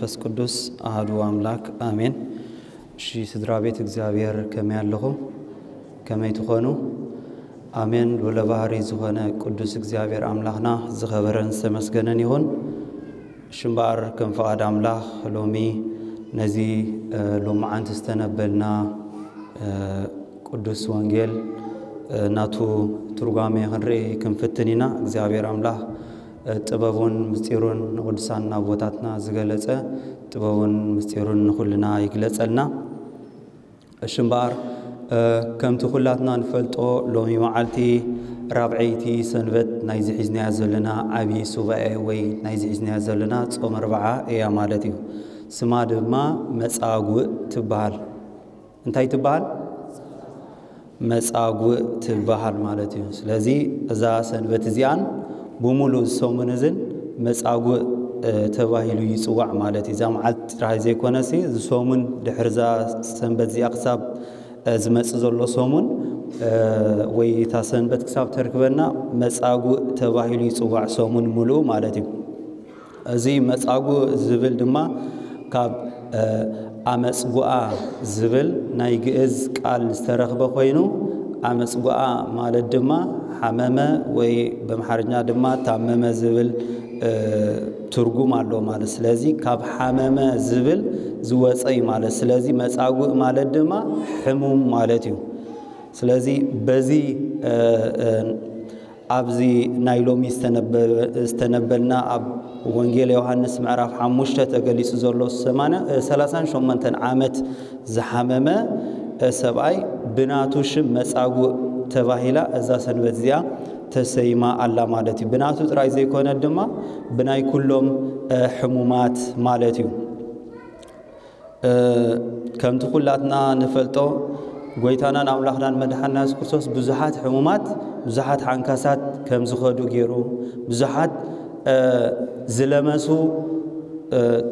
መንፈስ ቅዱስ ኣሃዱ ኣምላክ ኣሜን። እሺ ስድራ ቤት እግዚኣብሔር ከመይ ኣለኹም? ከመይ ትኾኑ? ኣሜን። ልዑለ ባህሪ ዝኾነ ቅዱስ እግዚኣብሔር ኣምላኽና ዝኸበረን ዝተመስገነን ይኹን። እሺ እምበኣር ከም ፍቓድ ኣምላኽ ሎሚ ነዚ ሎማዓንቲ ዝተነበልና ቅዱስ ወንጌል ናቱ ትርጓሜ ክንርኢ ክንፍትን ኢና። እግዚኣብሔር ኣምላኽ ጥበቡን ምስጢሩን ንቅዱሳን ኣቦታትና ዝገለጸ ጥበቡን ምስጢሩን ንኹልና ይግለጸልና። እሺ እምበኣር ከምቲ ኩላትና ንፈልጦ ሎሚ መዓልቲ ራብዐይቲ ሰንበት ናይዚ ሒዝናያ ዘለና ዓብዪ ሱባኤ ወይ ናይዚ ሒዝናያ ዘለና ጾም ኣርብዓ እያ ማለት እዩ። ስማ ድማ መጻጉእ ትበሃል። እንታይ ትበሃል? መጻጉእ ትበሃል ማለት እዩ። ስለዚ እዛ ሰንበት እዚኣን ብምሉእ ሰሙን እዝን መጻጉእ ተባሂሉ ይጽዋዕ ማለት እዩ። እዛ መዓልቲ ጥራይ ዘይኮነሲ እዚ ሰሙን ድሕሪ እዛ ሰንበት እዚኣ ክሳብ ዝመጽእ ዘሎ ሰሙን ወይ እታ ሰንበት ክሳብ ተርክበና መጻጉእ ተባሂሉ ይጽዋዕ ሰሙን ምሉእ ማለት እዩ። እዚ መጻጉእ ዝብል ድማ ካብ ኣመጽጉኣ ዝብል ናይ ግእዝ ቃል ዝተረኽበ ኮይኑ ኣመጽጉኣ ማለት ድማ ሓመመ ወይ በምሓርኛ ድማ ታመመ ዝብል ትርጉም ኣሎ ማለት። ስለዚ ካብ ሓመመ ዝብል ዝወፀ እዩ ማለት። ስለዚ መጻጉእ ማለት ድማ ሕሙም ማለት እዩ። ስለዚ በዚ ኣብዚ ናይ ሎሚ ዝተነበልና ኣብ ወንጌል ዮሃንስ ምዕራፍ ሓሙሽተ ተገሊጹ ዘሎ ሰላሳን ሸሞንተን ዓመት ዝሓመመ ሰብኣይ ብናቱ ሽም መጻጉእ ተባሂላ እዛ ሰንበት እዚኣ ተሰይማ ኣላ ማለት እዩ። ብናቱ ጥራይ ዘይኮነ ድማ ብናይ ኩሎም ሕሙማት ማለት እዩ። ከምቲ ኩላትና ንፈልጦ ጎይታናን ኣምላኽናን መድሓንና የሱስ ክርስቶስ ብዙሓት ሕሙማት ብዙሓት ሓንካሳት ከም ዝኸዱ ገይሩ ብዙሓት ዝለመሱ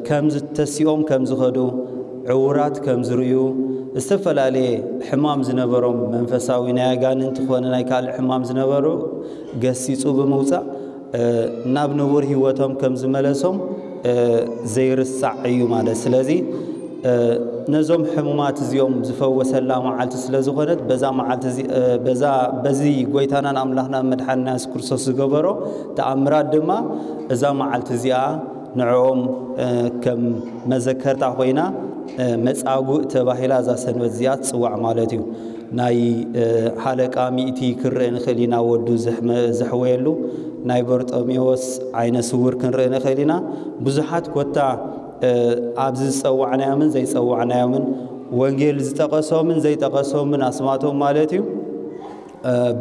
ከም ዝተሲኦም ከም ዝኸዱ ዕውራት ከም ዝርእዩ ዝተፈላለየ ሕማም ዝነበሮም መንፈሳዊ ናይ ኣጋንንቲ ኮነ ናይ ካልእ ሕማም ዝነበሩ ገሲጹ ብምውፃእ ናብ ንቡር ህይወቶም ከም ዝመለሶም ዘይርሳዕ እዩ ማለት። ስለዚ ነዞም ሕሙማት እዚኦም ዝፈወሰላ መዓልቲ ስለ ዝኾነት በዛ መዓልቲ በዚ ጎይታናን ኣምላኽና መድሓንና የሱስ ክርስቶስ ዝገበሮ ተኣምራት ድማ እዛ መዓልቲ እዚኣ ንዕኦም ከም መዘከርታ ኮይና መጻጉእ ተባሂላ እዛ ሰንበት እዚኣ ትጽዋዕ ማለት እዩ። ናይ ሃለቃ ሚእቲ ክንርኢ ንኽእል ኢና፣ ወዱ ዘሕወየሉ ናይ በርጦሜዎስ ዓይነ ስውር ክንርኢ ንኽእል ኢና። ብዙሓት ኮታ ኣብዚ ዝጸዋዕናዮምን ዘይጸዋዕናዮምን ወንጌል ዝጠቐሶምን ዘይጠቐሶምን ኣስማቶም ማለት እዩ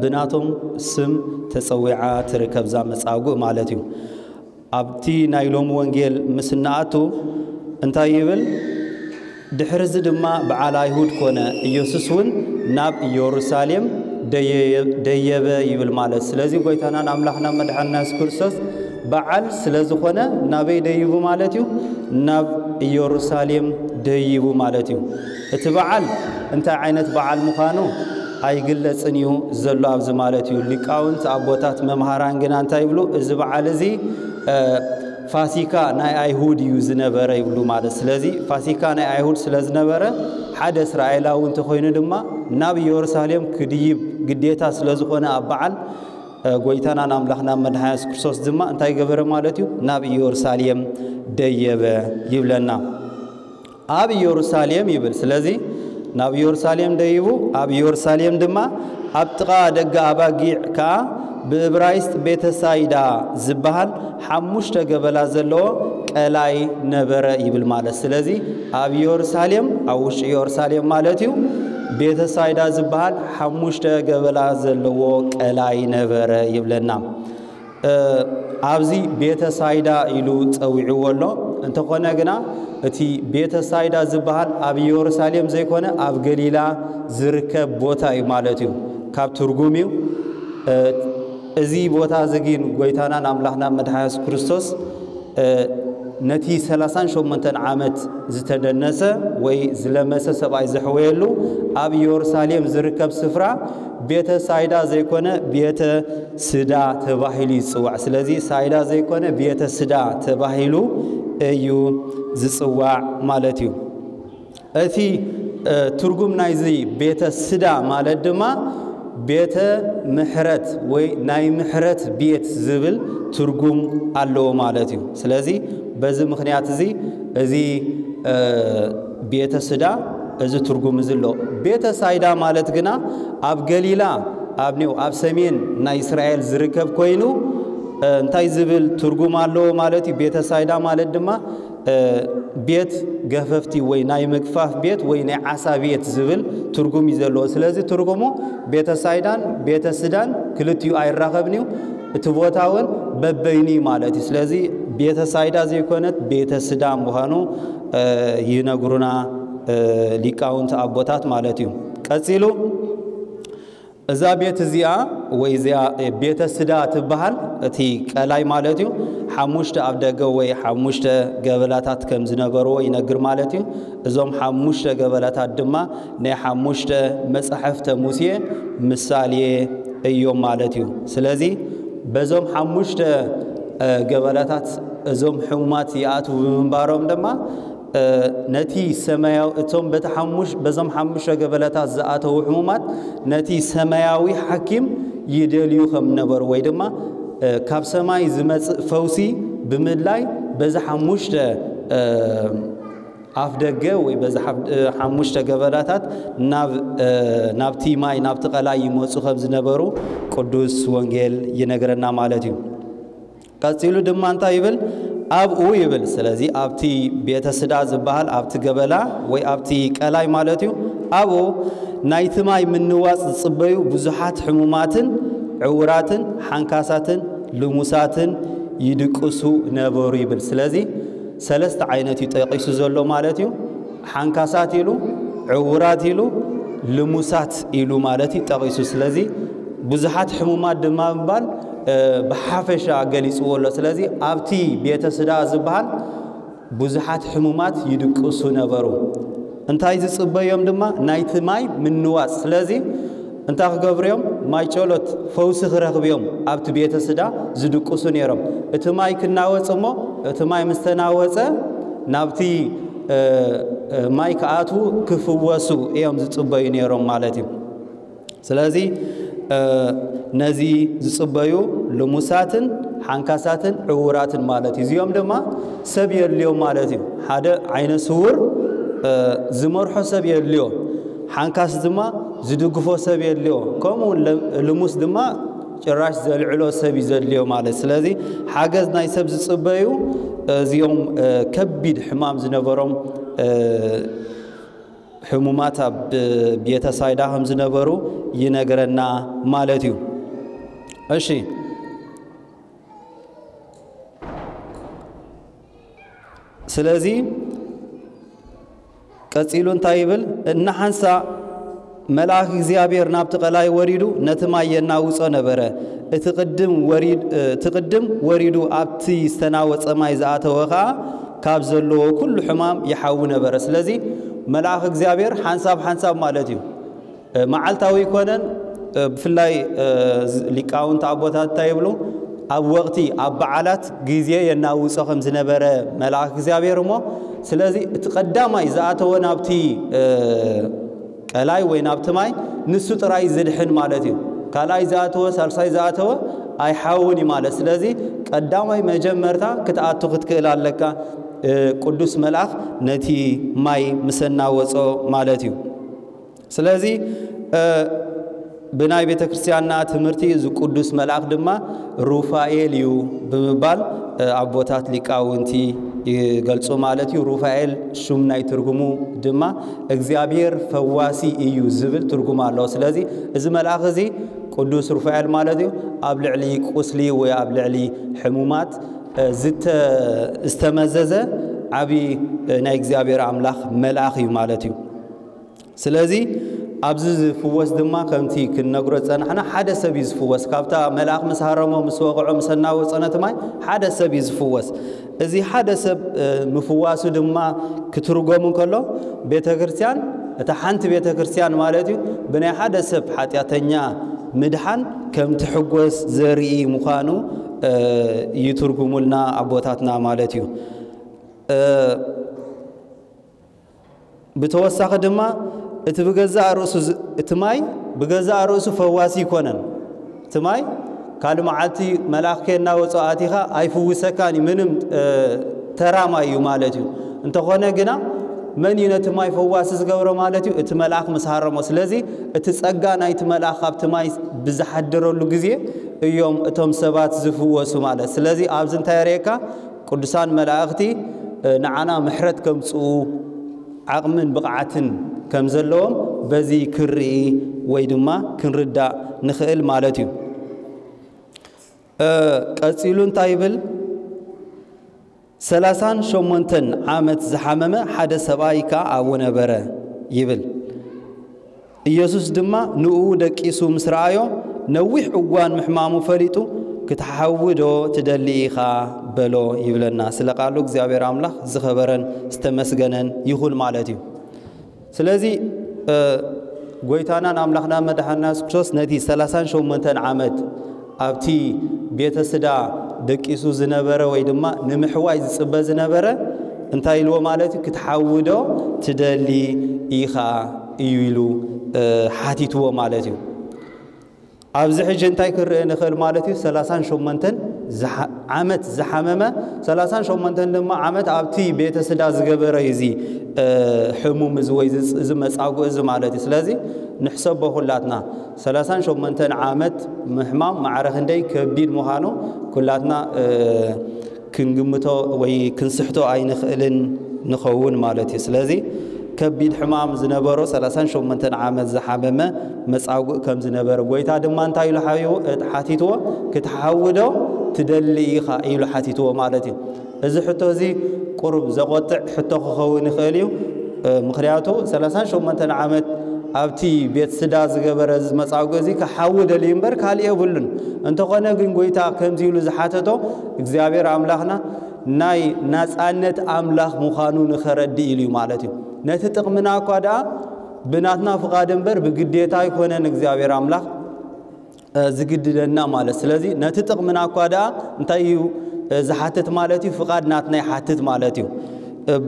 ብናቶም ስም ተጸዊዓ ትርከብ እዛ መጻጉእ ማለት እዩ። ኣብቲ ናይ ሎሚ ወንጌል ምስ እንኣቱ እንታይ ይብል? ድሕርዚ ድማ በዓል ኣይሁድ ኮነ፣ ኢየሱስ እውን ናብ ኢየሩሳሌም ደየበ ይብል ማለት። ስለዚ ጎይታናን ኣምላኽና መድሓንና የሱስ ክርስቶስ በዓል ስለ ዝኾነ ናበይ ደይቡ ማለት እዩ? ናብ ኢየሩሳሌም ደይቡ ማለት እዩ። እቲ በዓል እንታይ ዓይነት በዓል ምዃኑ ኣይግለጽን እዩ ዘሎ ኣብዚ ማለት እዩ። ሊቃውንት ኣቦታት መምሃራን ግና እንታይ ይብሉ? እዚ በዓል እዚ ፋሲካ ናይ ኣይሁድ እዩ ዝነበረ ይብሉ ማለት። ስለዚ ፋሲካ ናይ ኣይሁድ ስለ ዝነበረ ሓደ እስራኤላዊ እንተኾይኑ ድማ ናብ ኢየሩሳሌም ክድይብ ግዴታ ስለ ዝኾነ ኣብ በዓል ጎይታናን ኣምላኽና መድሓን የሱስ ክርስቶስ ድማ እንታይ ገበረ ማለት እዩ? ናብ ኢየሩሳሌም ደየበ ይብለና። ኣብ ኢየሩሳሌም ይብል። ስለዚ ናብ ኢየሩሳሌም ደይቡ ኣብ ኢየሩሳሌም ድማ ኣብ ጥቓ ደገ ኣባጊዕ ከኣ ብእብራይስጥ ቤተሳይዳ ዝበሃል ሓሙሽተ ገበላ ዘለዎ ቀላይ ነበረ ይብል ማለት። ስለዚ ኣብ ኢየሩሳሌም ኣብ ውሽጢ ኢየሩሳሌም ማለት እዩ ቤተሳይዳ ዝበሃል ሓሙሽተ ገበላ ዘለዎ ቀላይ ነበረ ይብለና። ኣብዚ ቤተ ሳይዳ ኢሉ ጸዊዕዎ ኣሎ። እንተኾነ ግና እቲ ቤተ ሳይዳ ዝበሃል ኣብ ኢየሩሳሌም ዘይኮነ ኣብ ገሊላ ዝርከብ ቦታ እዩ ማለት እዩ። ካብ ትርጉም እዩ። እዚ ቦታ እዚ ግን ጎይታናን ኣምላኽና መድሓን የሱስ ክርስቶስ ነቲ ሰላሳን ሸሞንተን ዓመት ዝተደነሰ ወይ ዝለመሰ ሰብኣይ ዘሕወየሉ ኣብ ኢየሩሳሌም ዝርከብ ስፍራ ቤተ ሳይዳ ዘይኮነ ቤተ ስዳ ተባሂሉ ይጽዋዕ። ስለዚ ሳይዳ ዘይኮነ ቤተ ስዳ ተባሂሉ እዩ ዝጽዋዕ ማለት እዩ። እቲ ትርጉም ናይዚ ቤተ ስዳ ማለት ድማ ቤተ ምሕረት ወይ ናይ ምሕረት ቤት ዝብል ትርጉም ኣለዎ ማለት እዩ። ስለዚ በዚ ምኽንያት እዚ እዚ ቤተ ስዳ እዚ ትርጉም እዚ ኣሎ። ቤተ ሳይዳ ማለት ግና ኣብ ገሊላ ኣብ ኒው ኣብ ሰሜን ናይ እስራኤል ዝርከብ ኮይኑ እንታይ ዝብል ትርጉም ኣለዎ ማለት እዩ። ቤተ ሳይዳ ማለት ድማ ቤት ገፈፍቲ ወይ ናይ ምግፋፍ ቤት ወይ ናይ ዓሳ ቤት ዝብል ትርጉም እዩ ዘለዎ። ስለዚ ትርጉሙ ቤተ ሳይዳን ቤተ ስዳን ክልቲኡ ኣይራኸብን እዩ። እቲ ቦታ እውን በበይኑ እዩ ማለት እዩ። ስለዚ ቤተ ሳይዳ ዘይኮነት ቤተ ስዳ ምዃኑ ይነግሩና ሊቃውንቲ ኣቦታት ማለት እዩ። ቀጺሉ እዛ ቤት እዚኣ ወይ እዚኣ ቤተ ስዳ ትበሃል። እቲ ቀላይ ማለት እዩ ሓሙሽተ ኣብ ደገ ወይ ሓሙሽተ ገበላታት ከም ዝነበርዎ ይነግር ማለት እዩ። እዞም ሓሙሽተ ገበላታት ድማ ናይ ሓሙሽተ መጻሕፍተ ሙሴ ምሳሌ እዮም ማለት እዩ። ስለዚ በዞም ሓሙሽተ ገበላታት እዞም ሕሙማት ይኣትዉ ብምንባሮም ድማ ነቲ ሰማያዊ እቶም በቲ ሓሙሽ በዞም ሓሙሽተ ገበለታት ዝኣተዉ ሕሙማት ነቲ ሰማያዊ ሓኪም ይደልዩ ከም ነበሩ ወይ ድማ ካብ ሰማይ ዝመጽእ ፈውሲ ብምድላይ በዚ ሓሙሽተ ኣፍ ደገ ወይ በዚ ሓሙሽተ ገበላታት ናብ ናብቲ ማይ ናብቲ ቀላይ ይመጹ ከም ዝነበሩ ቅዱስ ወንጌል ይነግረና ማለት እዩ። ቀጺሉ ድማ እንታይ ይብል? ኣብኡ ይብል። ስለዚ ኣብቲ ቤተ ስዳ ዝበሃል ኣብቲ ገበላ ወይ ኣብቲ ቀላይ ማለት እዩ። ኣብኡ ናይቲ ማይ ምንዋጽ ዝጽበዩ ብዙሓት ሕሙማትን ዕውራትን ሓንካሳትን ልሙሳትን ይድቅሱ ነበሩ ይብል። ስለዚ ሰለስተ ዓይነት እዩ ጠቂሱ ዘሎ ማለት እዩ። ሓንካሳት ኢሉ፣ ዕውራት ኢሉ፣ ልሙሳት ኢሉ ማለት እዩ ጠቂሱ። ስለዚ ብዙሓት ሕሙማት ድማ ምባል ብሓፈሻ ገሊፅዎ ኣሎ። ስለዚ ኣብቲ ቤተ ስዳ ዝበሃል ብዙሓት ሕሙማት ይድቅሱ ነበሩ። እንታይ ዝፅበዮም ድማ ናይቲ ማይ ምንዋፅ። ስለዚ እንታይ ክገብሩ እዮም? ማይ ጨሎት ፈውሲ ክረኽቡ እዮም ኣብቲ ቤተ ስዳ ዝድቅሱ ነይሮም። እቲ ማይ ክናወፅ እሞ እቲ ማይ ምስ ተናወፀ ናብቲ ማይ ክኣትዉ ክፍወሱ እዮም ዝፅበዩ ነይሮም ማለት እዩ። ስለዚ ነዚ ዝፅበዩ ልሙሳትን ሓንካሳትን ዕውራትን ማለት እዩ። እዚኦም ድማ ሰብ የድልዮም ማለት እዩ። ሓደ ዓይነ ስውር ዝመርሖ ሰብ የድልዮ፣ ሓንካስ ድማ ዝድግፎ ሰብ የድልዮ፣ ከምኡ እውን ልሙስ ድማ ጭራሽ ዘልዕሎ ሰብ እዩ ዘድልዮ ማለት። ስለዚ ሓገዝ ናይ ሰብ ዝፅበዩ እዚኦም ከቢድ ሕማም ዝነበሮም ሕሙማት ኣብ ቤተ ሳይዳ ከም ዝነበሩ ይነግረና ማለት እዩ። እሺ፣ ስለዚ ቀጺሉ እንታይ ይብል? እናሓንሳ መልኣኽ እግዚኣብሔር ናብቲ ቀላይ ወሪዱ ነቲ ማይ የናውጾ ነበረ። እቲ ቅድም ወሪድ-፣ እቲ ቅድም ወሪዱ ኣብቲ ዝተናወጸ ማይ ዝኣተወ ኸኣ ካብ ዘለዎ ኩሉ ሕማም ይሓዊ ነበረ። ስለዚ መልኣኽ እግዚኣብሔር ሓንሳብ ሓንሳብ ማለት እዩ። መዓልታዊ ኣይኮነን። ብፍላይ ሊቃውንቲ ኣቦታት እንታይ ይብሉ? ኣብ ወቕቲ ኣብ በዓላት ግዜ የናውጾ ከም ዝነበረ መልኣኽ እግዚኣብሔር እሞ፣ ስለዚ እቲ ቀዳማይ ዝኣተወ ናብቲ ቀላይ ወይ ናብቲ ማይ ንሱ ጥራይ ዝድሕን ማለት እዩ። ካልኣይ ዝኣተወ፣ ሳልሳይ ዝኣተወ ኣይሓውን እዩ ማለት። ስለዚ ቀዳማይ መጀመርታ ክትኣቱ ክትክእል ኣለካ። ቅዱስ መልኣኽ ነቲ ማይ ምስ ኣናወጾ ማለት እዩ። ስለዚ ብናይ ቤተ ክርስቲያንና ትምህርቲ እዚ ቅዱስ መልኣኽ ድማ ሩፋኤል እዩ ብምባል ኣቦታት ሊቃውንቲ ይገልጹ ማለት እዩ። ሩፋኤል ሹም ናይ ትርጉሙ ድማ እግዚኣብሔር ፈዋሲ እዩ ዝብል ትርጉም ኣለዎ። ስለዚ እዚ መልኣኽ እዚ ቅዱስ ሩፋኤል ማለት እዩ ኣብ ልዕሊ ቁስሊ ወይ ኣብ ልዕሊ ሕሙማት ዝተ-፣ ዝተመዘዘ ዓቢ ናይ እግዚኣብሔር ኣምላኽ መልኣኽ እዩ ማለት እዩ። ስለዚ ኣብዚ ዝፍወስ ድማ ከምቲ ክንነግሮ ዝጸናሕና ሓደ ሰብ እዩ ዝፍወስ። ካብታ መልኣኽ ምስ ሃረሞ፣ ምስ ወቕዖ፣ ምስ ኣናወጾ ነቲ ማይ ሓደ ሰብ እዩ ዝፍወስ። እዚ ሓደ ሰብ ምፍዋሱ ድማ ክትርጎም እንከሎ ቤተ ክርስቲያን፣ እታ ሓንቲ ቤተ ክርስቲያን ማለት እዩ ብናይ ሓደ ሰብ ሓጢኣተኛ ምድሓን ከም ትሕጎስ ዘርኢ ምዃኑ ይትርጉሙልና ኣቦታትና ማለት እዩ። ብተወሳኺ ድማ እቲ ብገዛእ ርእሱ እቲ ማይ ብገዛእ ርእሱ ፈዋሲ ኣይኮነን። እቲ ማይ ካልእ መዓልቲ መልኣኽ ከይናወጾ ኣቲኻ ኣይፍውሰካን እዩ፣ ምንም ተራ ማይ እዩ ማለት እዩ። እንተኾነ ግና መን እዩ ነቲ ማይ ፈዋሲ ዝገብሮ ማለት እዩ? እቲ መልኣኽ ምስ ሃረሞ። ስለዚ እቲ ጸጋ ናይቲ መልኣኽ ካብቲ ማይ ብዝሓደረሉ ግዜ እዮም እቶም ሰባት ዝፍወሱ ማለት። ስለዚ ኣብዚ እንታይ የርእየካ? ቅዱሳን መላእኽቲ ንዓና ምሕረት ከምጽኡ ዓቕምን ብቕዓትን ከም ዘለዎም በዚ ክንርኢ ወይ ድማ ክንርዳእ ንኽእል ማለት እዩ። ቀጺሉ እንታይ ይብል? ሰላሳን ሸሞንተን ዓመት ዝሓመመ ሓደ ሰብኣይ ከኣ ኣብኡ ነበረ ይብል። ኢየሱስ ድማ ንኡ ደቂሱ ምስ ረኣዮ ነዊሕ እዋን ምሕማሙ ፈሊጡ ክትሓዊ ዶ ትደሊ ኢኻ በሎ ይብለና። ስለ ቃሉ እግዚኣብሔር ኣምላኽ ዝኸበረን ዝተመስገነን ይኹን ማለት እዩ። ስለዚ ጎይታናን ኣምላኽና መድሓና የሱስ ክርስቶስ ነቲ ሰላሳን ሸሞንተን ዓመት ኣብቲ ቤተ ስዳ ደቂሱ ዝነበረ ወይ ድማ ንምሕዋይ ዝጽበ ዝነበረ እንታይ ኢልዎ ማለት እዩ? ክትሓዊ ዶ ትደሊ ኢኻ እዩ ኢሉ ሓቲትዎ ማለት እዩ። ኣብዚ ሕጂ እንታይ ክንርኢ ንኽእል ማለት እዩ? ሰላሳን ሸሞንተን ዓመት ዝሓመመ፣ ሰላሳን ሸሞንተን ድማ ዓመት ኣብቲ ቤተ ስዳ ዝገበረ እዩ እዚ ሕሙም እዚ ወይ እዚ መጻጉ እዚ ማለት እዩ። ስለዚ ንሕሰቦ ኩላትና ሰላሳን ሸሞንተን ዓመት ምሕማም ማዕረ ክንደይ ከቢድ ምዃኑ ኩላትና ክንግምቶ ወይ ክንስሕቶ ኣይንኽእልን ንኸውን ማለት እዩ። ስለዚ ከቢድ ሕማም ዝነበሮ ሰላሳን ሸሞንተን ዓመት ዝሓመመ መጻጉእ ከም ዝነበረ ጎይታ ድማ እንታይ ኢሉ ሓቢቡ ሓቲትዎ? ክትሓዊ ዶ ትደሊ ኢኻ ኢሉ ሓቲትዎ ማለት እዩ። እዚ ሕቶ እዚ ቁሩብ ዘቆጥዕ ሕቶ ክኸውን ይኽእል እዩ። ምኽንያቱ ሰላሳን ሸሞንተን ዓመት ኣብቲ ቤት ስዳ ዝገበረ እዚ መጻጉእ እዚ ክሓዊ ደልዩ እምበር ካልእ የብሉን። እንተኾነ ግን ጎይታ ከምዚ ኢሉ ዝሓተቶ እግዚኣብሔር ኣምላኽና ናይ ናጻነት ኣምላኽ ምዃኑ ንኸረድእ ኢሉ እዩ ማለት እዩ። ነቲ ጥቕምና እኳ ደኣ ብናትና ፍቓድ እምበር ብግዴታ ኣይኮነን እግዚኣብሔር ኣምላኽ ዝግድደና ማለት። ስለዚ ነቲ ጥቕምና እኳ ደኣ እንታይ እዩ ዝሓትት ማለት እዩ? ፍቓድ ናትና ይሓትት ማለት እዩ።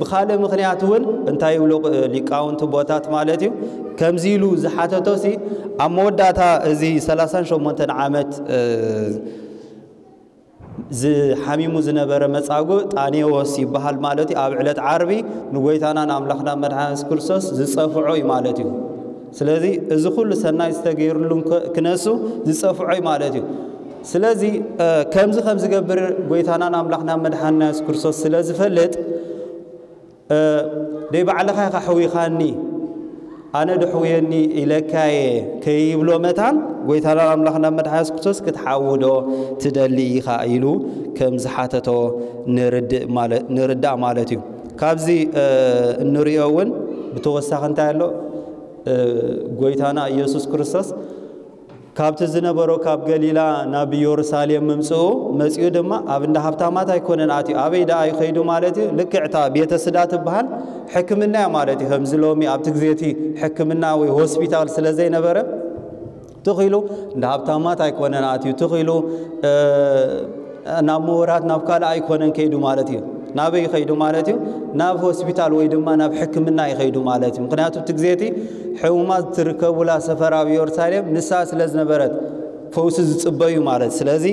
ብኻልእ ምኽንያት እውን እንታይ ይብሉ ሊቃውንቲ ቦታት ማለት እዩ? ከምዚ ኢሉ ዝሓተቶ ሲ ኣብ መወዳእታ እዚ ሰላሳን ሸሞንተን ዓመት ዝሓሚሙ ዝነበረ መጻጉእ ጣኔዎስ ይበሃል ማለት እዩ። ኣብ ዕለት ዓርቢ ንጎይታና ንኣምላኽና መድሓኒ የሱስ ክርስቶስ ዝጸፍዖ እዩ ማለት እዩ። ስለዚ እዚ ኩሉ ሰናይ ዝተገይርሉ ክነሱ ዝጸፍዖ እዩ ማለት እዩ። ስለዚ ከምዚ ከም ዝገብር ጎይታና ንኣምላኽና መድሓንና የሱስ ክርስቶስ ስለ ዝፈልጥ ደይ ባዕልኻ ኢኻ ሕዊኻኒ ኣነ ዶ ሕውየኒ ኢለካየ ከይብሎ መታን ጎይታና ኣምላኽና መድሓኒ የሱስ ክርስቶስ ክትሓዊ ዶ ትደሊ ኢኻ ኢሉ ከም ዝሓተቶ ንርዳእ ማለት እዩ። ካብዚ እንሪኦ እውን ብተወሳኺ እንታይ ኣሎ? ጎይታና ኢየሱስ ክርስቶስ ካብቲ ዝነበሮ ካብ ገሊላ ናብ ኢየሩሳሌም ምምፅኡ መፂኡ ድማ ኣብ እንዳ ሃብታማት ኣይኮነን ኣትዩ። ኣበይ ደኣ እዩ ከይዱ ማለት እዩ? ልክዕታ ቤተ ስዳ ትበሃል ሕክምና እያ ማለት እዩ። ከምዚ ሎሚ ኣብቲ ግዜ እቲ ሕክምና ወይ ሆስፒታል ስለ ዘይነበረ ትኺሉ እንዳ ሃብታማት ኣይኮነን ኣትዩ። ትኺሉ ናብ ምሁራት ናብ ካልእ ኣይኮነን ከይዱ ማለት እዩ። ናበይ ከይዱ ማለት እዩ? ናብ ሆስፒታል ወይ ድማ ናብ ሕክምና ይኸይዱ ማለት እዩ። ምክንያቱ እቲ ግዜ እቲ ሕሙማት ትርከቡላ ሰፈር ኣብ ኢየሩሳሌም ንሳ ስለ ዝነበረት ፈውሲ ዝጽበዩ ማለት። ስለዚ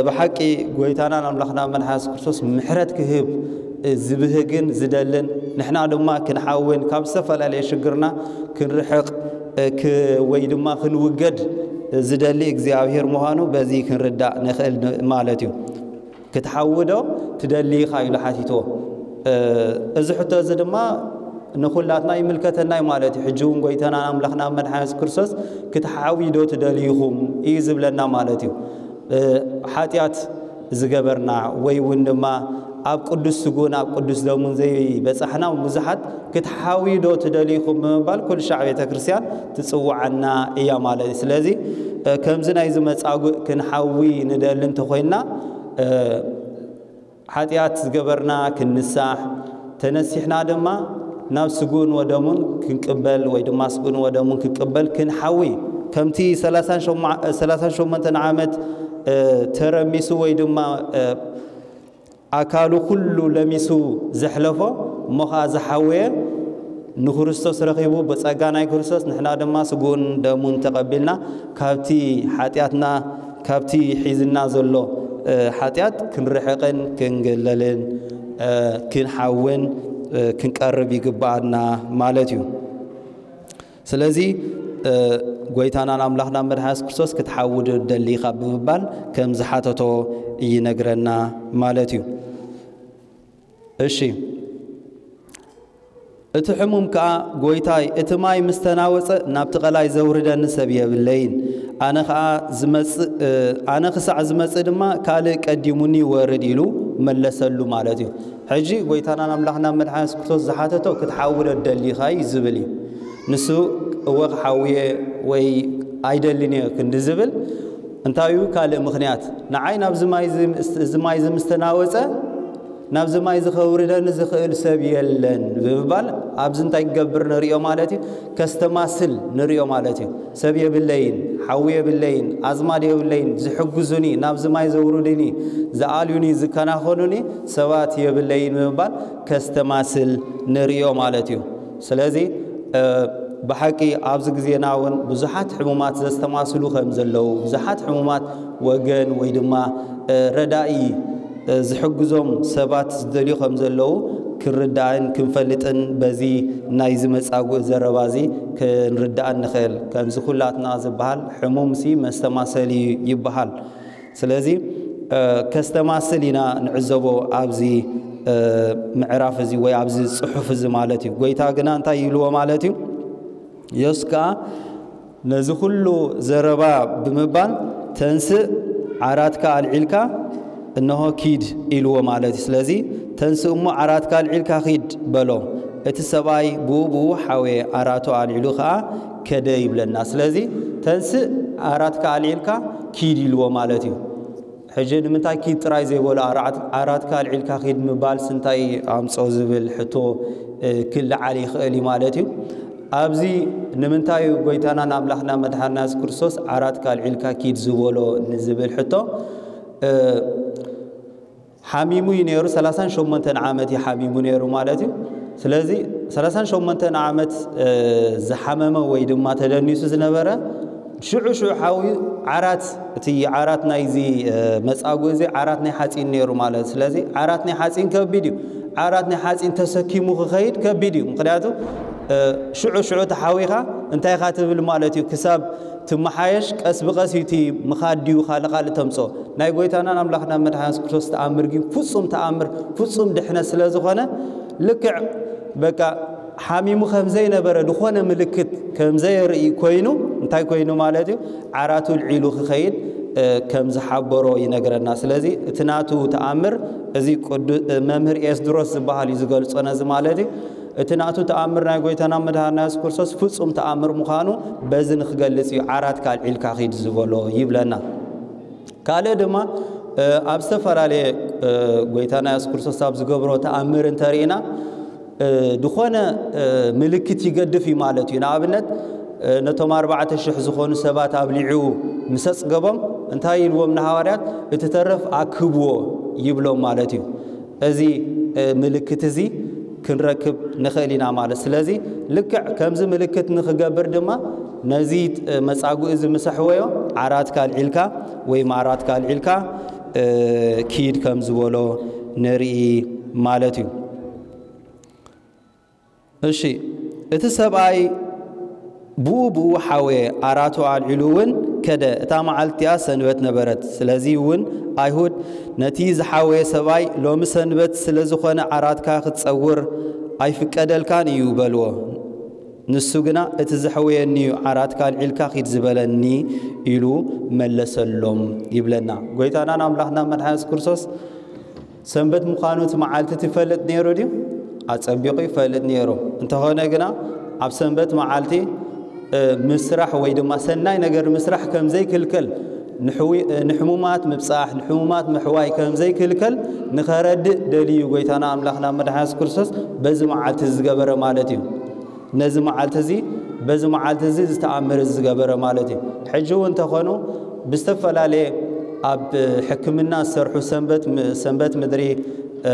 ብሓቂ ጎይታናን ኣምላኽና መድሓኒ የሱስ ክርስቶስ ምሕረት ክህብ ዝብህግን ዝደልን ንሕና ድማ ክንሓውን ካብ ዝተፈላለየ ሽግርና ክንርሕቕ ወይ ድማ ክንውገድ ዝደሊ እግዚኣብሔር ምዃኑ በዚ ክንርዳእ ንኽእል ማለት እዩ። ክትሓዊ ዶ ትደሊ ኢኻ ኢሉ ሓቲትዎ። እዚ ሕቶ እዚ ድማ ንኹላትና ይምልከተና እዩ ማለት እዩ። ሕጂ እውን ጎይታና ኣምላኽና መድሓኒ የሱስ ክርስቶስ ክትሓዊ ዶ ትደልይኹም እዩ ዝብለና ማለት እዩ። ሓጢኣት ዝገበርና ወይ እውን ድማ ኣብ ቅዱስ ስጉን ኣብ ቅዱስ ደሙን ዘይበጻሕና ብዙሓት ክትሓዊ ዶ ትደልይኹም ብምባል ኩሉ ሻዕ ቤተ ክርስቲያን ትጽውዓና እያ ማለት እዩ። ስለዚ ከምዚ ናይ ዝመጻጉእ ክንሓዊ ንደሊ እንተኾይንና ሓጢኣት ዝገበርና ክንንሳሕ ተነሲሕና ድማ ናብ ስጉን ወደሙን ክንቅበል ወይ ድማ ስጉን ወደሙን ክንቅበል ክንሓዊ ከምቲ ሰላሳን ሸሞንተን ዓመት ተረሚሱ ወይ ድማ ኣካሉ ኩሉ ለሚሱ ዘሕለፎ እሞ ኸዓ ዝሓወየ ንክርስቶስ ረኺቡ ብጸጋ ናይ ክርስቶስ ንሕና ድማ ስግኡን ደሙን ተቐቢልና ካብቲ ሓጢኣትና ካብቲ ሒዝና ዘሎ ሓጢኣት ክንርሕቕን ክንግለልን ክንሓውን ክንቀርብ ይግብኣና ማለት እዩ። ስለዚ ጎይታናን ኣምላኽና መድሓስ ክርስቶስ ክትሓውድ ደሊኻ ብምባል ከም ዝሓተቶ ይነግረና ማለት እዩ። እሺ፣ እቲ ሕሙም ከኣ፣ ጎይታይ፣ እቲ ማይ ምስ ተናወጸ ናብቲ ቀላይ ዘውርደኒ ሰብ የብለይን። ኣነ ከኣ ዝመጽእ ኣነ ክሳዕ ዝመጽእ ድማ ካልእ ቀዲሙኒ ይወርድ ኢሉ መለሰሉ ማለት እዩ። ሕጂ ጎይታናን ኣምላኽና መድሓን የሱስ ክርስቶስ ዝሓተቶ ክትሓውደ ደሊኻ እዩ ዝብል እዩ። ንሱ እወ ክሓውየ ወይ ኣይደልን እየ ክንዲ ዝብል እንታይ እዩ ካልእ ምኽንያት ንዓይ ናብዚ ማይ እዚ ምስ ተናወጸ ናብዚ ማይ እዚ ከውርደኒ ዝኽእል ሰብ የለን ብምባል ኣብዚ እንታይ ክገብር ንርእዮ ማለት እዩ? ከስተማስል ንርእዮ ማለት እዩ። ሰብ የብለይን፣ ሓዊ የብለይን፣ ኣዝማድ የብለይን፣ ዝሕግዙኒ፣ ናብዚ ማይ ዘውርዱኒ፣ ዝኣልዩኒ፣ ዝከናኸኑኒ ሰባት የብለይን ብምባል ከስተማስል ንርእዮ ማለት እዩ። ስለዚ ብሓቂ ኣብዚ ግዜና እውን ብዙሓት ሕሙማት ዘስተማስሉ ከም ዘለዉ ብዙሓት ሕሙማት ወገን ወይ ድማ ረዳኢ ዝሕግዞም ሰባት ዝደልዩ ከም ዘለዉ ክንርዳእን ክንፈልጥን በዚ ናይ ዝመጻጉእ ዘረባ እዚ ክንርዳእን ንኽእል። ከምዚ ኩላትና ዝበሃል ሕሙምሲ መስተማሰሊ ይበሃል። ስለዚ ከስተማስል ኢና ንዕዘቦ ኣብዚ ምዕራፍ እዚ ወይ ኣብዚ ጽሑፍ እዚ ማለት እዩ። ጎይታ ግና እንታይ ይብልዎ ማለት እዩ? የሱስ ከኣ ነዚ ኩሉ ዘረባ ብምባል ተንስእ ዓራትካ ኣልዒልካ እነሆ ኪድ ኢልዎ ማለት እዩ። ስለዚ ተንስእ እሞ ዓራትካ ኣልዒልካ ኪድ በሎ። እቲ ሰብኣይ ብኡ ብኡ ሓወየ ኣራቱ ኣልዒሉ ከኣ ከደ ይብለና። ስለዚ ተንስእ ዓራትካ ኣልዒልካ ኪድ ኢልዎ ማለት እዩ። ሕጂ ንምንታይ ኪድ ጥራይ ዘይበሎ ኣራትካ ኣልዒልካ ኪድ ምባል ስንታይ ኣምጾ ዝብል ሕቶ ክልዓል ይኽእል እዩ ማለት እዩ። ኣብዚ ንምንታይ እዩ ጎይታናን ኣምላኽና መድሓንና የሱስ ክርስቶስ ዓራትካ ኣልዒልካ ኪድ ዝበሎ ንዝብል ሕቶ ሓሚሙ እዩ ነይሩ። ሰላሳን ሸሞንተን ዓመት እዩ ሓሚሙ ነይሩ ማለት እዩ። ስለዚ ሰላሳን ሸሞንተን ዓመት ዝሓመመ ወይ ድማ ተደኒሱ ዝነበረ ሽዑ ሽዑ ሓዊ ዓራት እቲ ዓራት ናይዚ መጻጉ እዚ ዓራት ናይ ሓጺን ነይሩ ማለት እዩ። ስለዚ ዓራት ናይ ሓጺን ከቢድ እዩ። ዓራት ናይ ሓጺን ተሰኪሙ ክኸይድ ከቢድ እዩ። ምክንያቱ ሽዑ ሽዑ ተሓዊኻ እንታይ ኢኻ ትብል ማለት እዩ። ክሳብ ትመሓየሽ ቀስ ብቐስ እዩ እቲ ምኻድ ድዩ ካልእ ካልእ ተምጾ። ናይ ጎይታናን ኣምላኽና መድሓን የሱስ ክርስቶስ ተኣምር ግን ፍጹም ተኣምር ፍጹም ድሕነት ስለ ዝኾነ ልክዕ በቃ ሓሚሙ ከም ዘይነበረ ዝኾነ ምልክት ከም ዘየርኢ ኮይኑ እንታይ ኮይኑ ማለት እዩ? ዓራቱ ልዒሉ ክኸይድ ከም ዝሓበሮ ይነግረና። ስለዚ እቲ ናቱ ተኣምር እዚ መምህር ኤስድሮስ ዝበሃል እዩ ዝገልጾ ነዚ ማለት እዩ። እቲ ናቱ ተኣምር ናይ ጎይታና መድሃና የሱስ ክርስቶስ ፍጹም ተኣምር ምዃኑ በዚ ንክገልጽ እዩ ዓራትካ ኣልዒልካ ኺድ ዝበሎ ይብለና። ካልእ ድማ ኣብ ዝተፈላለየ ጎይታና የሱስ ክርስቶስ ኣብ ዝገብሮ ተኣምር እንተርኢና ዝኾነ ምልክት ይገድፍ እዩ ማለት እዩ። ንኣብነት ነቶም ኣርባዕተ ሽሕ ዝኾኑ ሰባት ኣብሊዑ ምስ ኣጽገቦም እንታይ ኢልዎም ንሃዋርያት? እቲ ተረፍ ኣክብዎ ይብሎም ማለት እዩ። እዚ ምልክት እዚ ክንረክብ ንኽእል ኢና ማለት። ስለዚ ልክዕ ከምዚ ምልክት ንኽገብር ድማ ነዚ መጻጉ እዚ ምስ ኣሕወዮ ዓራትካ ኣልዒልካ ወይ ዓራትካ ኣልዒልካ ኪድ ከም ዝበሎ ንርኢ ማለት እዩ። እሺ፣ እቲ ሰብኣይ ብኡ ብኡ ሓወየ፣ ኣራቱ ኣልዒሉ እውን ከደ። እታ መዓልቲ እቲኣ ሰንበት ነበረት። ስለዚ እውን ኣይሁድ ነቲ ዝሓወየ ሰብኣይ፣ ሎሚ ሰንበት ስለ ዝኾነ ዓራትካ ክትጸውር ኣይፍቀደልካን እዩ በልዎ። ንሱ ግና እቲ ዘሕወየኒ እዩ ዓራትካ ኣልዒልካ ኪድ ዝበለኒ ኢሉ መለሰሎም ይብለና። ጎይታናን ኣምላኽና መድሓን የሱስ ክርስቶስ ሰንበት ምዃኑ እቲ መዓልቲ እቲ ይፈልጥ ነይሩ ድዩ? ኣጸቢቑ ይፈልጥ ነይሩ። እንተኾነ ግና ኣብ ሰንበት መዓልቲ ምስራሕ ወይ ድማ ሰናይ ነገር ምስራሕ ከም ዘይክልከል ንሕሙማት ምብጻሕ ንሕሙማት ምሕዋይ ከም ዘይክልከል ንኸረድእ ደልዩ ጎይታና ኣምላኽና መድሓን የሱስ ክርስቶስ በዚ መዓልቲ ዝገበረ ማለት እዩ። ነዚ መዓልቲ እዚ በዚ መዓልቲ እዚ ዝተኣምር ዝገበረ ማለት እዩ። ሕጂ እውን እንተኾኑ ብዝተፈላለየ ኣብ ሕክምና ዝሰርሑ ሰንበት ሰንበት ምድሪ እ፣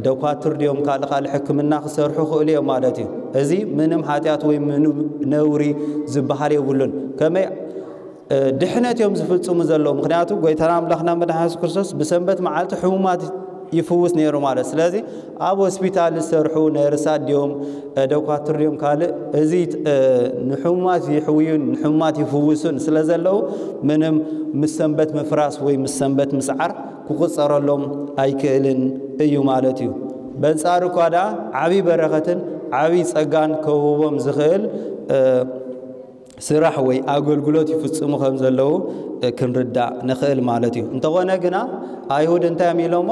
ደኳትር ድዮም ካልእ ካልእ ሕክምና ክሰርሑ ክእሉ እዮም ማለት እዩ። እዚ ምንም ሓጢኣት ወይ ምንም ነውሪ ዝበሃል የብሉን። ከመይ፣ እ፣ ድሕነት እዮም ዝፍጽሙ ዘለዉ። ምኽንያቱ ጎይታና ኣምላኽና መድሓኒ የሱስ ክርስቶስ ብሰንበት መዓልቲ ሕሙማት ይፍውስ ነይሩ ማለት። ስለዚ ኣብ ሆስፒታል ዝሰርሑ ነርሳት ድዮም፣ እ፣ ደኳትር ድዮም ካልእ፣ እዚ፣ እ፣ ንሕሙማት ይሕውዩን ንሕሙማት ይፍውሱን ስለ ዘለዉ ምንም ምስ ሰንበት ምፍራስ ወይ ምስ ሰንበት ምስዓር ክቑጸረሎም ኣይክእልን እዩ ማለት እዩ። በንጻሩ እኳ ደኣ ዓቢ በረኸትን ዓቢ ጸጋን ከውህቦም ዝኽእል፣ እ፣ ስራሕ ወይ ኣገልግሎት ይፍጽሙ ከም ዘለዉ፣ እ፣ ክንርዳእ ንኽእል ማለት እዩ። እንተኾነ ግና ኣይሁድ እንታይ እዮም ኢሎሞ?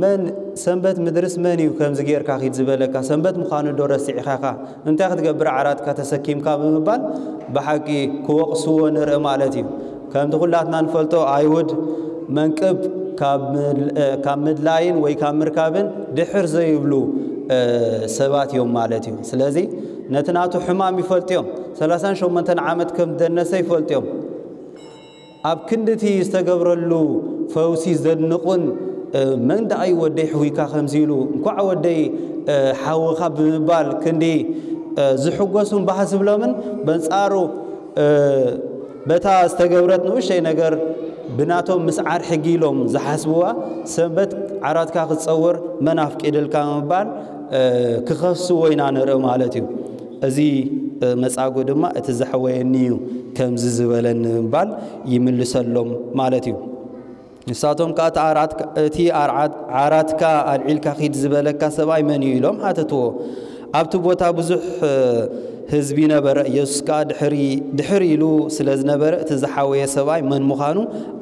"መን ሰንበት ምድርስ መን እዩ ከምዚ ጌርካ ኪድ ዝበለካ? ሰንበት ምዃኑ ዶ ረሲዕኻ ኢኻ? እንታይ ክትገብር ዓራትካ ተሰኪምካ?" ብምባል ብሓቂ ክወቕስዎ ንርኢ ማለት እዩ። ከምቲ ኩላትና ንፈልጦ ኣይሁድ መንቅብ ካብ ምል-፣ እ፣ ካብ ምድላይን ወይ ካብ ምርካብን ድሕር ዘይብሉ፣ እ፣ ሰባት እዮም ማለት እዩ። ስለዚ ነቲ ናቱ ሕማም ይፈልጡ እዮም። ሰላሳን ሸሞንተን ዓመት ከም ደነሰ ይፈልጡ እዮም። ኣብ ክንዲ እቲ ዝተገብረሉ ፈውሲ ዘድንቑን፣ እ፣ "መን ደኣ እዩ ወደይ ሕውይካ ከምዚ ኢሉ? እንኳዕ ወደይ፣ እ፣ ሓወኻ" ብምባል ክንዲ፣ እ፣ ዝሕጎሱን ባህ ዝብሎምን፣ በንጻሩ፣ እ፣ በታ ዝተገብረት ንኡሽተይ ነገር ብናቶም ምስዓር ሕጊ ኢሎም ዝሓስብዋ ሰንበት ዓራትካ ክትጸውር መን ኣፍቂድልካ ምባል፣ እ፣ ክኸስዎ ኢና ንርኢ ማለት እዩ። እዚ፣ እ፣ መጻጉ ድማ እቲ ዘሕወየኒ እዩ ከምዚ ዝበለኒ ምባል ይምልሰሎም ማለት እዩ። ንሳቶም ከኣ እቲ ኣርዓት-፣ እቲ ኣርዓት-፣ ዓራትካ ኣልዒልካ ኪድ ዝበለካ ሰብኣይ መን እዩ? ኢሎም ሓተትዎ። ኣብቲ ቦታ ብዙሕ፣ እ፣ ህዝቢ ነበረ። ኢየሱስ ከኣ ድሕሪ-፣ ድሕር ኢሉ ስለ ዝነበረ እቲ ዝሓወየ ሰብኣይ መን ምዃኑ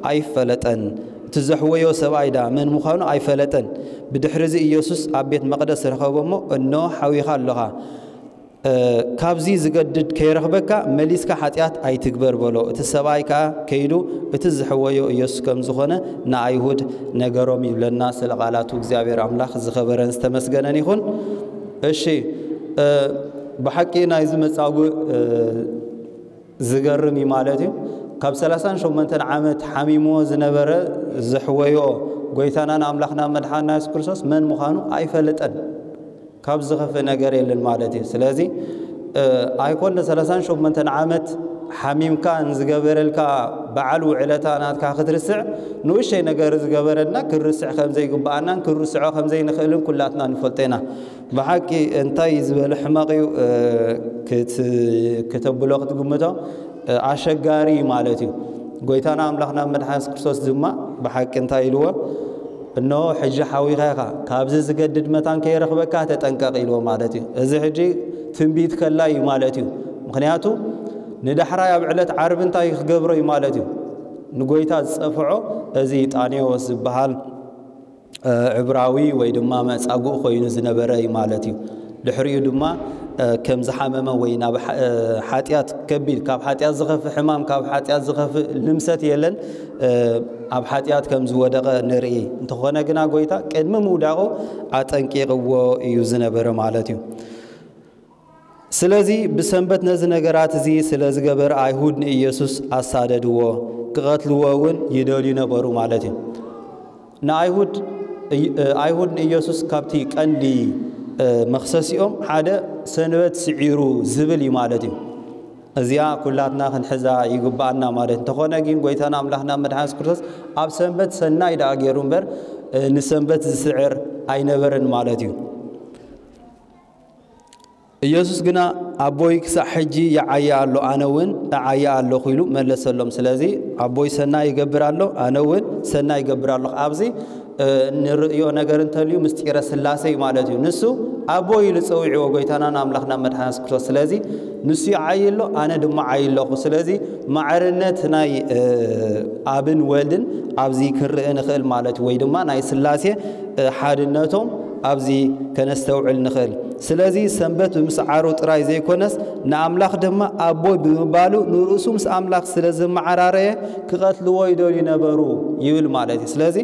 ኣይፈለጠን። እቲ ዘሕወዮ ሰብኣይ ደኣ መን ምዃኑ ኣይፈለጠን። ብድሕርዚ ኢየሱስ ኣብ ቤት መቕደስ ረኸቦ እሞ፣ "እንሆ ሓዊኻ ኣለኻ። እ፣ ካብዚ ዝገድድ ከይረኽበካ መሊስካ ሓጢኣት ኣይትግበር" በሎ። እቲ ሰብኣይ ከኣ ከይዱ እቲ ዝሕወዮ ኢየሱስ ከም ዝኾነ ንኣይሁድ ነገሮም ይብለና። ስለ ቃላቱ እግዚኣብሔር ኣምላኽ ዝኸበረን ዝተመስገነን ይኹን። እሺ፣ እ፣ ብሓቂ ናይዚ መጻጉዕ፣ እ፣ ዝገርም እዩ ማለት እዩ። ካብ ሰላሳን ሸሞንተን ዓመት ሓሚምዎ ዝነበረ ዘሕወዮ ጎይታናን ኣምላኽና መድሓንና የሱስ ክርስቶስ መን ምዃኑ ኣይፈለጠን። ካብ ዝኸፍእ ነገር የለን ማለት እዩ። ስለዚ፣ እ፣ ኣይኮነ ሰላሳን ሸሞንተን ዓመት ሓሚምካ ንዝገበረልካ በዓል ውዕለታ ናትካ ክትርስዕ፣ ንኡሽተይ ነገር ዝገበረልና ክንርስዕ ከም ዘይግብኣናን ክንርስዖ ከም ዘይንኽእልን ኩላትና ንፈልጦ ኢና። ብሓቂ እንታይ ዝበለ ሕመቕ እዩ፣ እ፣ ክት-፣ ክተብሎ ክትግምቶ፣ እ፣ ኣሸጋሪ እዩ ማለት እዩ። ጎይታና ኣምላኽና መድሓን የሱስ ክርስቶስ ድማ ብሓቂ እንታይ ኢልዎ? "እንሆ ሕጂ ሓዊኻ ኢኻ፣ ካብዚ ዝገድድ መታን ከይረኽበካ ተጠንቀቕ" ኢልዎ ማለት እዩ። እዚ ሕጂ ትንቢት ከላይ እዩ ማለት እዩ። ምኽንያቱ ንዳሕራይ ኣብ ዕለት ዓርቢ እንታይ ክገብሮ እዩ ማለት እዩ? ንጎይታ ዝጸፍዖ እዚ ጣኔዎስ ዝበሃል፣ እ፣ ዕብራዊ ወይ ድማ መጻጉዕ ኮይኑ ዝነበረ እዩ ማለት እዩ። ድሕሪኡ ድማ፣ እ፣ ከም ዝሓመመ ወይ ናብ ሓ-፣ እ፣ ሓጢኣት ከቢድ፣ ካብ ሓጢኣት ዝኸፍእ ሕማም፣ ካብ ሓጢኣት ዝኸፍእ ልምሰት የለን፣ እ፣ ኣብ ሓጢኣት ከም ዝወደቐ ንርኢ። እንተኾነ ግና ጎይታ ቅድሚ ምውዳቑ ኣጠንቂቕዎ እዩ ዝነበረ ማለት እዩ። ስለዚ ብሰንበት ነዚ ነገራት እዚ ስለ ዝገበረ ኣይሁድ ንኢየሱስ ኣሳደድዎ፣ ክቐትልዎ እውን ይደልዩ ነበሩ ማለት እዩ። ንኣይሁድ፣ እይ-፣ ኣይሁድ ንኢየሱስ ካብቲ ቀንዲ፣ እ፣ መኽሰሲኦም ሓደ ሰንበት ስዒሩ ዝብል እዩ ማለት እዩ። እዚኣ ኩላትና ክንሕዛ ይግብኣና ማለት። እንተኾነ ግን ጎይታና ኣምላኽና መድሓን የሱስ ክርስቶስ ኣብ ሰንበት ሰናይ ደኣ ገይሩ እምበር፣ እ፣ ንሰንበት ዝስዕር ኣይነበረን ማለት እዩ። ኢየሱስ ግና ኣቦይ ክሳዕ ሕጂ ይዓዪ ኣሎ፣ ኣነ እውን እዓዪ ኣለኹ ኢሉ መለሰሎም። ስለዚ ኣቦይ ሰናይ ይገብር ኣሎ፣ ኣነ እውን ሰናይ ይገብር ኣለኹ። ኣብዚ፣ እ፣ ንርእዮ ነገር እንተልዩ ምስጢረ ስላሴ እዩ ማለት እዩ። ንሱ ኣቦይ ኢሉ ጸዊዕዎ ጎይታናን ኣምላኽና መድሓን የሱስ ክርስቶስ። ስለዚ ንሱ ይዓዪ ኣሎ፣ ኣነ ድማ ዓዪ ኣለኹ። ስለዚ ማዕርነት ናይ፣ እ፣ ኣብን ወልድን ኣብዚ ክንርኢ ንኽእል ማለት እዩ። ወይ ድማ ናይ ስላሴ፣ እ፣ ሓድነቶም ኣብዚ ከነስተውዕል ንኽእል። ስለዚ ሰንበት ብምስዓሩ ጥራይ ዘይኮነስ ንኣምላኽ ድማ ኣቦይ ብምባሉ ንርእሱ ምስ ኣምላኽ ስለ ዘመዓራረየ ክቐትልዎ ይደልዩ ነበሩ ይብል ማለት እዩ። ስለዚ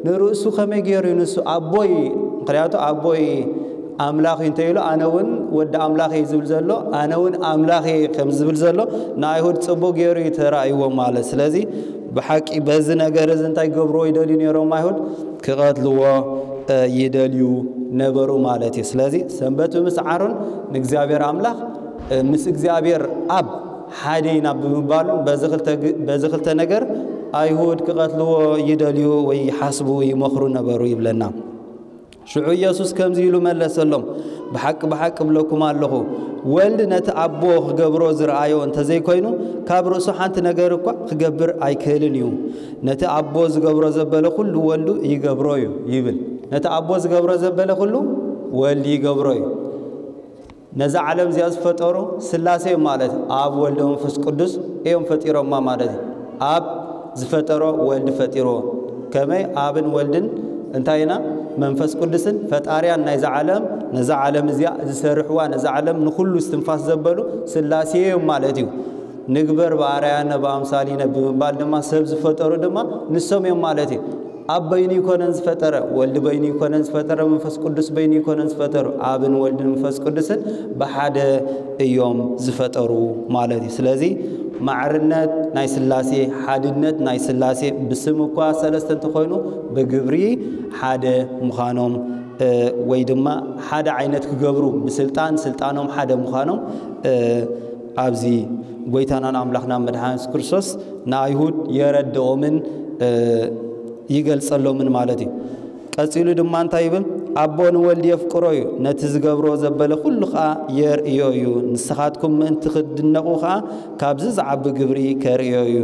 ንርእሱ ከመይ ገይሩ እዩ ንሱ ኣቦይ፣ ምኽንያቱ ኣቦይ ኣምላኽ እዩ እንተኢሉ ኣነ እውን ወዲ ኣምላኽ እየ ዝብል ዘሎ፣ ኣነ እውን ኣምላኽ እየ ከም ዝብል ዘሎ ንኣይሁድ ጽቡቕ ገይሩ እዩ ተራእይዎም ማለት። ስለዚ ብሓቂ በዚ ነገር እዚ እንታይ ክገብርዎ ይደልዩ ነይሮም ኣይሁድ? ክቐትልዎ፣ ይደልዩ ነበሩ ማለት እዩ። ስለዚ ሰንበት ብምስዓሩን ንእግዚኣብሔር ኣምላኽ ምስ እግዚኣብሔር ኣብ ሓደ ኢና ብምባሉን በዚ ክልተ ነገር ኣይሁድ ክቐትልዎ ይደልዩ ወይ ይሓስቡ ይመኽሩ ነበሩ ይብለና። ሽዑ ኢየሱስ ከምዚ ኢሉ መለሰሎም፣ ብሓቂ ብሓቂ እብለኩም ኣለኹ፣ ወልድ ነቲ ኣቦ ክገብሮ ዝረኣዮ እንተዘይኮይኑ ካብ ርእሱ ሓንቲ ነገር እኳ ክገብር ኣይክእልን እዩ። ነቲ ኣቦ ዝገብሮ ዘበለ ኩሉ ወልዱ ይገብሮ እዩ ይብል። ነቲ ኣቦ ዝገብሮ ዘበለ ኩሉ ወልድ ይገብሮ እዩ። ነዛ ዓለም እዚኣ ዝፈጠሩ ስላሴ እዮም ማለት ኣብ ወልድ መንፈስ ቅዱስ እዮም ፈጢሮማ ማለት እዩ። ኣብ ዝፈጠሮ ወልድ ፈጢርዎ። ከመይ ኣብን ወልድን እንታይ ኢና መንፈስ ቅዱስን ፈጣርያን ናይዛ ዓለም፣ ነዛ ዓለም እዚኣ ዝሰርሕዋ፣ ነዛ ዓለም ንኩሉ እስትንፋስ ዘበሉ ስላሴ እዮም ማለት እዩ። ንግበር ብኣርኣያነ ብኣምሳሊነ ብምባል ድማ ሰብ ዝፈጠሩ ድማ ንሶም እዮም ማለት እዩ። ኣብ በይኑ ይኮነን ዝፈጠረ፣ ወልድ በይኑ ይኮነን ዝፈጠረ፣ መንፈስ ቅዱስ በይኑ ይኮነን ዝፈጠሩ፣ ኣብን ወልድን መንፈስ ቅዱስን ብሓደ እዮም ዝፈጠሩ ማለት እዩ። ስለዚ ማዕርነት ናይ ስላሴ፣ ሓድነት ናይ ስላሴ ብስም እኳ ሰለስተ እንተኾይኑ ብግብሪ ሓደ ምዃኖም ወይ ድማ ሓደ ዓይነት ክገብሩ ብስልጣን ስልጣኖም ሓደ ምዃኖም ኣብዚ ጎይታናን ኣምላኽና መድሓን የሱስ ክርስቶስ ንኣይሁድ የረድኦምን ይገልጸሎምን ማለት እዩ። ቀጺሉ ድማ እንታይ ይብል? ኣቦ ንወልድ የፍቅሮ እዩ፣ ነቲ ዝገብሮ ዘበለ ኩሉ ኸኣ የርእዮ እዩ። ንስኻትኩም ምእንቲ ክትድነቑ ኸኣ ካብዚ ዝዓቢ ግብሪ ከርእዮ እዩ።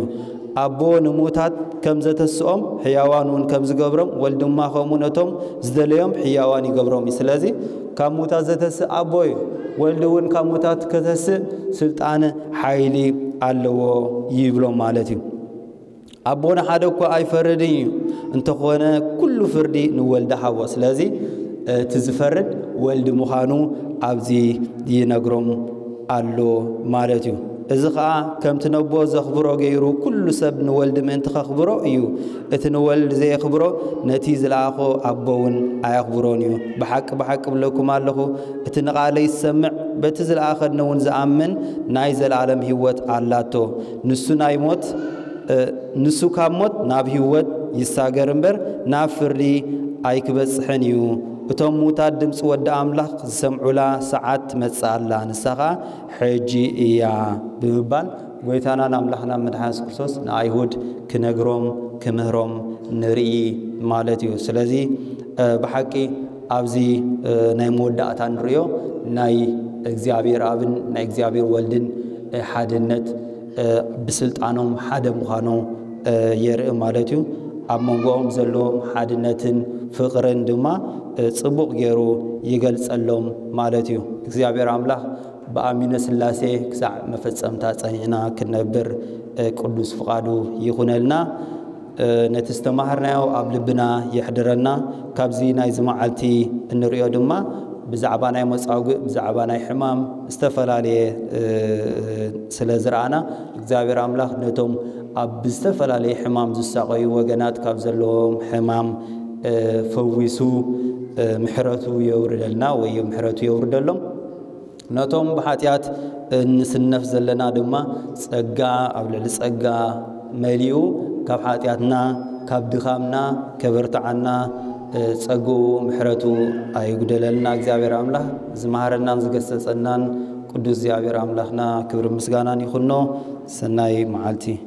ኣቦ ንሙታት ከም ዘተስኦም ሕያዋን እውን ከም ዝገብሮም ወልድ ድማ ከምኡ ነቶም ዝደለዮም ሕያዋን ይገብሮም እዩ። ስለዚ ካብ ሙታት ዘተስእ ኣቦ እዩ። ወልድ እውን ካብ ሙታት ከተስእ ስልጣን ሓይሊ ኣለዎ ይብሎም ማለት እዩ። ኣቦ ንሓደ እኳ ኣይፈርድን እዩ፣ እንተኾነ ኩሉ ፍርዲ ንወልድ ሃቦ። ስለዚ እቲ ዝፈርድ ወልድ ምዃኑ ኣብዚ ይነግሮም ኣሎ ማለት እዩ። እዚ ኸኣ ከምቲ ነቦ ዘኽብሮ ገይሩ ኩሉ ሰብ ንወልድ ምእንቲ ከኽብሮ እዩ። እቲ ንወልድ ዘየኽብሮ ነቲ ዝለኣኾ ኣቦ እውን ኣየኽብሮን እዩ። ብሓቂ ብሓቂ እብለኩም ኣለኹ፣ እቲ ንቓለይ ዝሰምዕ በቲ ዝለኣኸኒ እውን ዝኣምን ናይ ዘለኣለም ህይወት ኣላቶ። ንሱ ናይ ሞት ንሱ ካብ ሞት ናብ ህይወት ይሳገር እምበር ናብ ፍርዲ ኣይክበጽሕን እዩ። እቶም ሙታት ድምፂ ወዲ ኣምላኽ ዝሰምዑላ ሰዓት ትመጽእ ኣላ፣ ንሳ ኸኣ ሕጂ እያ ብምባል ጎይታናን ኣምላኽና መድሓን የሱስ ክርስቶስ ንኣይሁድ ክነግሮም ክምህሮም ንርኢ ማለት እዩ። ስለዚ ብሓቂ ኣብዚ ናይ መወዳእታ ንርእዮ ናይ እግዚኣብሔር ኣብን ናይ እግዚኣብሔር ወልድን ሓድነት ብስልጣኖም ሓደ ምዃኖም የርኢ ማለት እዩ። ኣብ መንጎኦም ዘለዎም ሓድነትን ፍቕርን ድማ ጽቡቕ ገይሩ ይገልጸሎም ማለት እዩ። እግዚኣብሔር ኣምላኽ ብኣሚነ ስላሴ ክሳዕ መፈጸምታ ጸኒዕና ክንነብር ቅዱስ ፍቓዱ ይኹነልና። ነቲ ዝተማሃርናዮ ኣብ ልብና የሕድረና። ካብዚ ናይዚ መዓልቲ እንርእዮ ድማ ብዛዕባ ናይ መጻጉእ ብዛዕባ ናይ ሕማም ዝተፈላለየ ስለ ዝረኣና እግዚኣብሔር ኣምላኽ ነቶም ኣብ ዝተፈላለየ ሕማም ዝሳቐዩ ወገናት ካብ ዘለዎም ሕማም ፈዊሱ ምሕረቱ የውርደልና ወይ ምሕረቱ የውርደሎም። ነቶም ብሓጢኣት እንስነፍ ዘለና ድማ ጸጋ ኣብ ልዕሊ ጸጋ መሊኡ ካብ ሓጢኣትና ካብ ድኻምና ከበርትዓና ጸግኡ ምሕረቱ ኣይጉደለልና። እግዚኣብሔር ኣምላኽ ዝመሃረናን ዝገሰጸናን ቅዱስ እግዚኣብሔር ኣምላኽና ክብሪ ምስጋናን ይኹኖ። ሰናይ መዓልቲ።